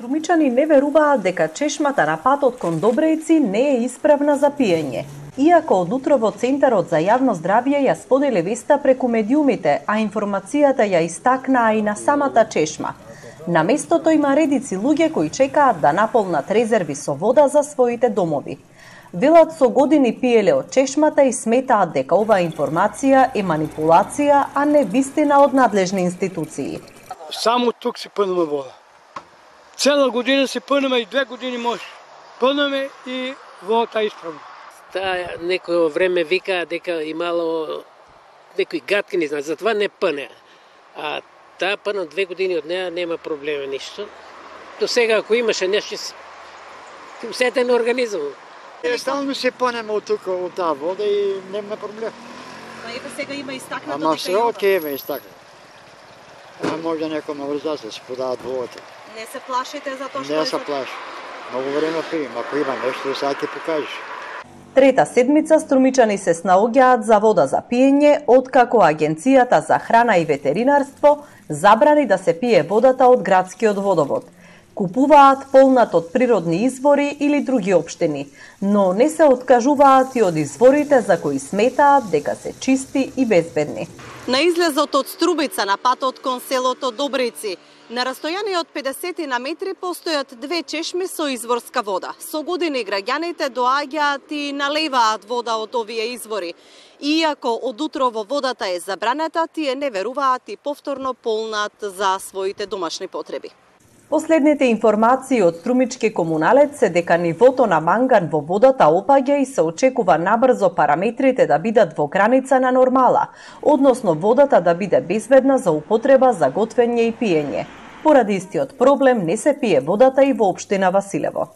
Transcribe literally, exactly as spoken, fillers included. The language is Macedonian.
Струмичани не веруваат дека чешмата на патот кон Добрејци не е исправна за пиење. Иако од утро во Центарот за јавно здравје ја сподели веста преку медиумите, а информацијата ја истакнаа и на самата чешма. На местото има редици луѓе кои чекаат да наполнат резерви со вода за своите домови. Велат со години пиеле од чешмата и сметаат дека оваа информација е манипулација, а не вистина од надлежни институции. Само тук си пънаме вода. Цела година си пънаме и две години може. Пънаме и водата е исправна. Таа некој време вика дека имало некои гатки, не знам, затоа не пъне. А таа пъна две години од неа нема проблема ништо. До сега ако имаше нешто, усетен организам. Стално се пънеме од тука, од таа вода и нема проблем. Ма еве сега има истакнато дека Ама се оке има истакнато. А може некој ме врза се подават водата. Не се плашите за тоа што Не се плаши. Многу време пием, ако има нешто, сега ќе покажеш. Трета седмица струмичани се снаоѓаат за вода за пиење, откако Агенцијата за храна и ветеринарство забрани да се пие водата од градскиот водовод. Купуваат полнат од природни извори или други општини, но не се откажуваат и од изворите за кои сметаат дека се чисти и безбедни. На излезот од Струбица на патот кон селото Добрејци, на растојание од педесет на метри постојат две чешми со изворска вода. Со години граѓаните доаѓаат и налеваат вода од овие извори. Иако од утро во водата е забранета, тие не веруваат и повторно полнат за своите домашни потреби. Последните информации од струмички комуналец се дека нивото на манган во водата опаѓа и се очекува набрзо параметрите да бидат во граница на нормала, односно водата да биде безбедна за употреба за готвење и пиење. Поради истиот проблем не се пие водата и во општина Василево.